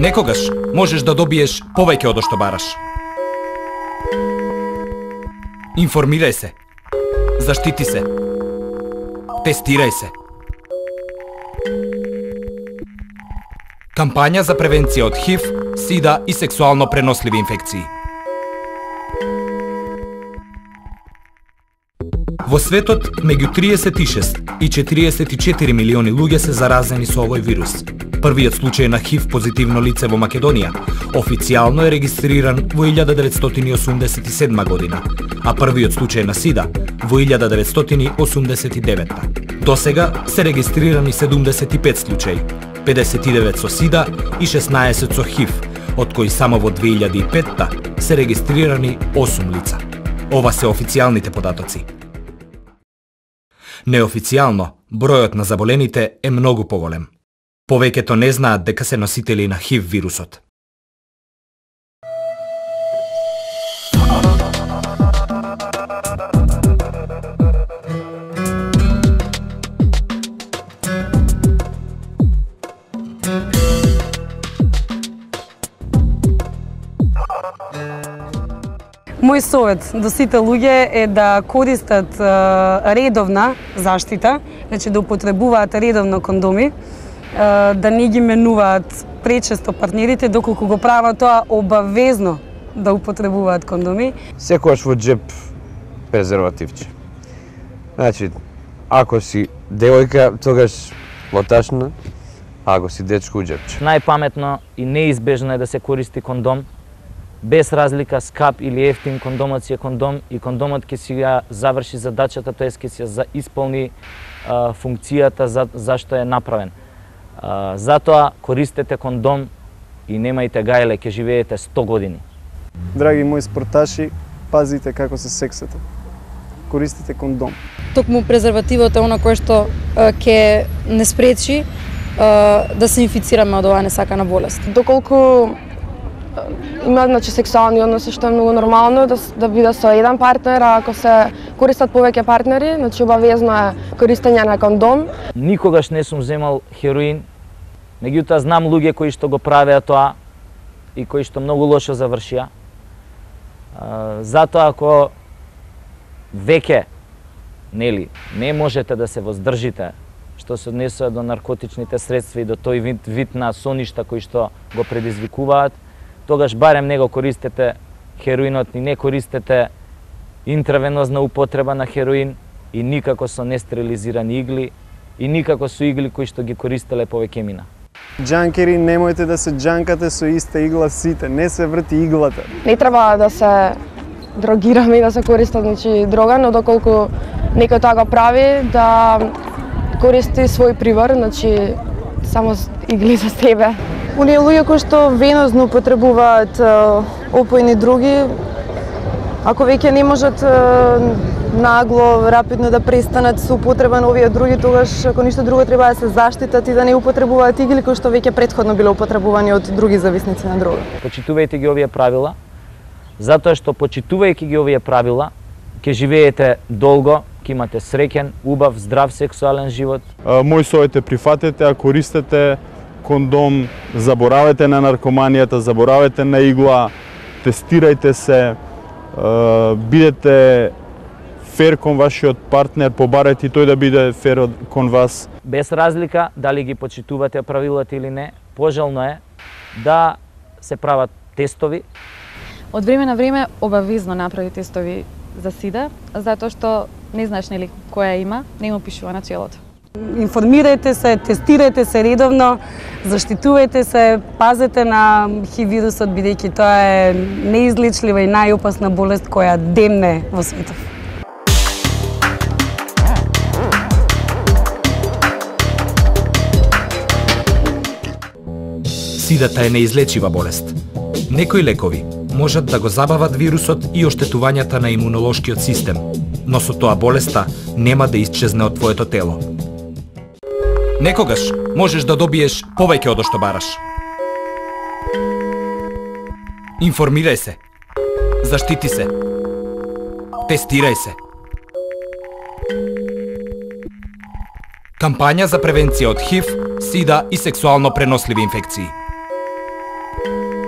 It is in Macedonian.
Некогаш можеш да добиеш повеќе од што бараш. Информирај се. Заштити се. Тестирај се. Кампања за превенција од ХИВ, СИДА и сексуално преносливи инфекции. Во светот, меѓу 36 и 44 милиони луѓе се заразени со овој вирус. Првиот случај на ХИВ позитивно лице во Македонија официјално е регистриран во 1987 година, а првиот случај на СИДА во 1989. Досега се регистрирани 75 случаи, 59 со СИДА и 16 со ХИВ, од кои само во 2005 се регистрирани 8 лица. Ова се официјалните податоци. Неофицијално, бројот на заболените е многу поголем. Повеќето не знаат дека се носители на ХИВ вирусот. Мој совет до сите луѓе е да користат редовна заштита, значи да употребуваат редовно кондоми, да не ги менуваат пречесто партнерите, доколку го прават тоа обавезно да употребуваат кондоми. Секогаш во джеп презервативче. Значи, ако си девојка, тогаш во ташна, а ако си дечко, джепче. Најпаметно и неизбежно е да се користи кондом. Без разлика скап или ефтин, кондомот си е кондом и кондомот ќе си ја заврши задачата, тоест ќе си ја исполни функцијата зашто е направен. Затоа користете кондом и немајте гајле, ќе живеете 100 години. Драги мои спорташи, пазите како се сексате. Користите кондом. Токму презервативот е она кое што ќе не спречи да се инфицираме од оваа несакана болест. Доколку има сексуални односи, што е многу нормално да биде со еден партнер, а ако се користат повеќе партнери, обавезно е користење на кондом. Никогаш не сум земал хероин, меѓутоа знам луѓе кои што го правеа тоа и кои што многу лошо завршија. Затоа ако веќе не можете да се воздржите што се однесува до наркотичните средства и до тој вид на соништа кои што го предизвикуваат, тогаш барем не го користете хероинот и не користете интравенозна употреба на хероин и никако со нестерилизирани игли и никако со игли кои што ги користеле повеќе мина. Џанкери, немојте да се џанкате со иста игла сите, не се врти иглата. Не треба да се дрогираме и да се користат дрога, но доколку некој тоа го прави, да користи свој прибор, само игли за себе. Оние луѓе кои што венозно употребуваат опојни други, ако веќе не можат нагло, рапидно да престанат со употреба на овие други, тогаш ако ништо друго треба да се заштитат и да не употребуваат игли кои што веќе претходно биле употребувани од други зависници на дрога. Почитувајте ги овие правила, затоа што почитувајќи ги овие правила, ќе живеете долго, ќе имате среќен, убав, здрав сексуален живот. Мој совет е прифатете, а користете кондом, заборавете на наркоманијата, заборавете на игла, тестирајте се, бидете фер кон вашиот партнер, побарете и тој да биде фер кон вас. Без разлика дали ги почитувате правилата или не, пожелно е да се прават тестови. Од време на време обавезно направи тестови за СИДА, затоа што не знаеш која има, не му пишува на челото. Информирајте се, тестирајте се редовно, заштитувајте се, пазете на ХИВ вирусот, бидејќи тоа е неизлечлива и најопасна болест која демне во светот. СИДАТа е неизлечива болест. Некои лекови можат да го забават вирусот и оштетувањата на имунолошкиот систем, но со тоа болеста нема да исчезне од твоето тело. Некогаш можеш да добиеш повеќе од што бараш. Информирај се. Заштити се. Тестирај се. Кампања за превенција од ХИВ, СИДА и сексуално преносливи инфекции. Музика